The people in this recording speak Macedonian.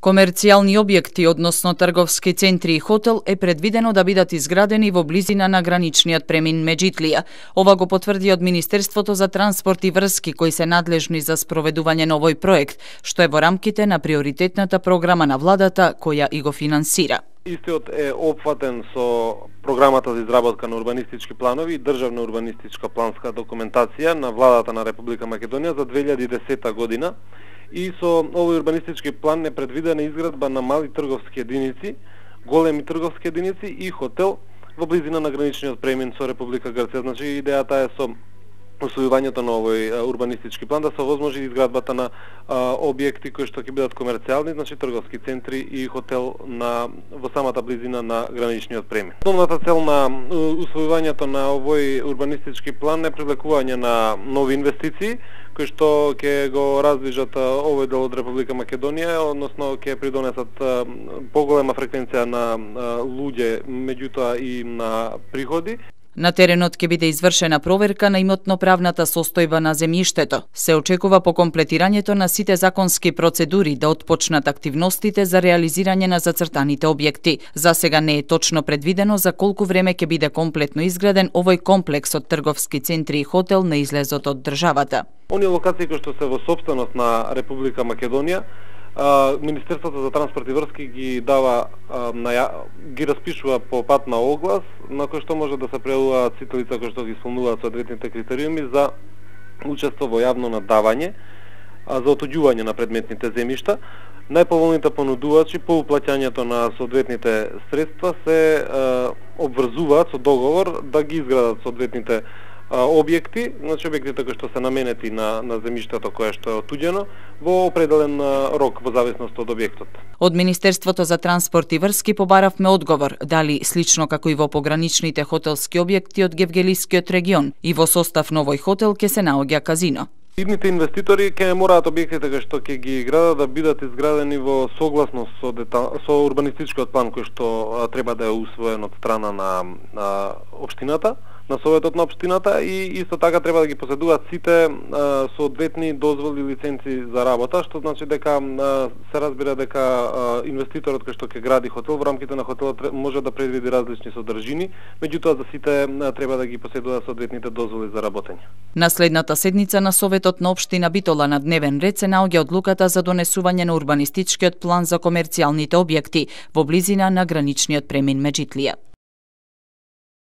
Комерцијални објекти, односно трговски центри и хотел, е предвидено да бидат изградени во близина на граничниот премин Меджитлија. Ова го потврди од Министерството за транспорт и врски, кои се надлежни за спроведување на овој проект, што е во рамките на приоритетната програма на владата, која и го финансира. Истиот е опфатен со програмата за изработка на урбанистички планови и државна урбанистичка планска документација на владата на Република Македонија за 2010 година. И со овој урбанистички план е предвидена изградба на мали трговски единици, големи трговски единици и хотел во близина на граничниот премин со Република Грција. Значи идејата е со усвојувањето на овој урбанистички план да се овозможи изградбата на објекти кои што ќе бидат комерцијални, значи трговски центри и хотел во самата близина на граничниот премин. Основната цел на усвојувањето на овој урбанистички план е привлекување на нови инвестиции кои што ќе го раздвижат овој дел од Република Македонија, односно ќе придонесат поголема фреквенција на луѓе, меѓутоа и на приходи. На теренот ќе биде извршена проверка на имотно-правната состојба на земјиштето. Се очекува по комплетирањето на сите законски процедури да отпочнат активностите за реализирање на зацртаните објекти. За сега не е точно предвидено за колку време ќе биде комплетно изграден овој комплекс од трговски центри и хотел на излезот од државата. Оние локации кои што се во сопственост на Република Македонија, Министерството за транспорт и врски ги распишува по пат на оглас, на кој што може да се пријавуваат сите лица кои што ги исполнуваат соодветните критериуми за учество во јавно надавање, за отоѓување на предметните земјишта. Најповолните понудувачи по уплаќањето на соодветните средства се обврзуваат со договор да ги изградат соодветните објекти, значи објектите кои што се наменети на земјиштето кое што е отуѓено во определен рок во зависност од објектот. Од Министерството за транспорт и врски побаравме одговор дали слично како и во пограничните хотелски објекти од Гевгелискиот регион и во состав на овој хотел ќе се наоѓа казино. Идните инвеститори ќе мораат објектите кои што ќе ги градат да бидат изградени во согласност со урбанистичкиот план кој што треба да е усвоен од страна на општината, на советот на општината, и исто така треба да ги поседуваат сите соодветни дозволи и лиценци за работа, што значи дека се разбира дека инвеститорот кој што ќе гради хотел во рамките на хотелот може да предвиди различни содржини, меѓутоа за сите треба да ги поседуваат соодветните дозволи за работење. На следната седница на Советот на општина Битола на дневен ред се наоѓа одлуката за донесување на урбанистичкиот план за комерцијалните објекти во близина на граничниот премин Меджитлија.